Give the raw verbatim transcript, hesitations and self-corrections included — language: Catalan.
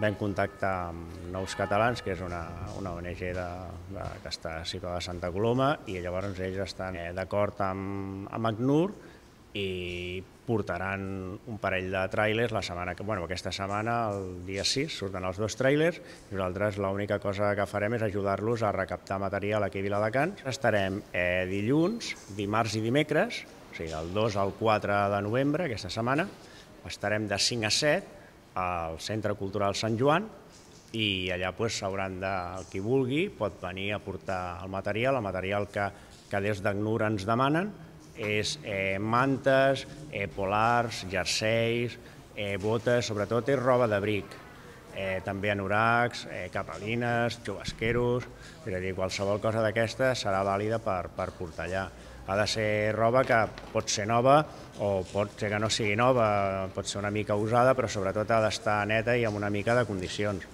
vam contactar amb Nous Catalans, que és una, una O N G de, de, que està situada a Santa Coloma, i llavors ells estan eh, d'acord amb, amb ACNUR i portaran un parell de tràilers la setmana que, bueno, aquesta setmana, el dia sis, surten els dos tràilers, i nosaltres l'única cosa que farem és ajudar-los a recaptar material aquí a Viladecans. Estarem eh, dilluns, dimarts i dimecres, o sigui, el dos al quatre de novembre, aquesta setmana, estarem de cinc a set al Centre Cultural Sant Joan, i allà s'hauran de, qui vulgui pot venir a portar el material, el material que, que des d'ACNUR ens demanen, és eh, mantes, eh, polars, jerseis, eh, botes, sobretot és roba d'abric, eh, també anoracs, eh, capelines, xubasqueros, és a dir, qualsevol cosa d'aquesta serà vàlida per, per portar allà. Ha de ser roba que pot ser nova o pot ser que no sigui nova, pot ser una mica usada, però sobretot ha d'estar neta i amb una mica de condicions.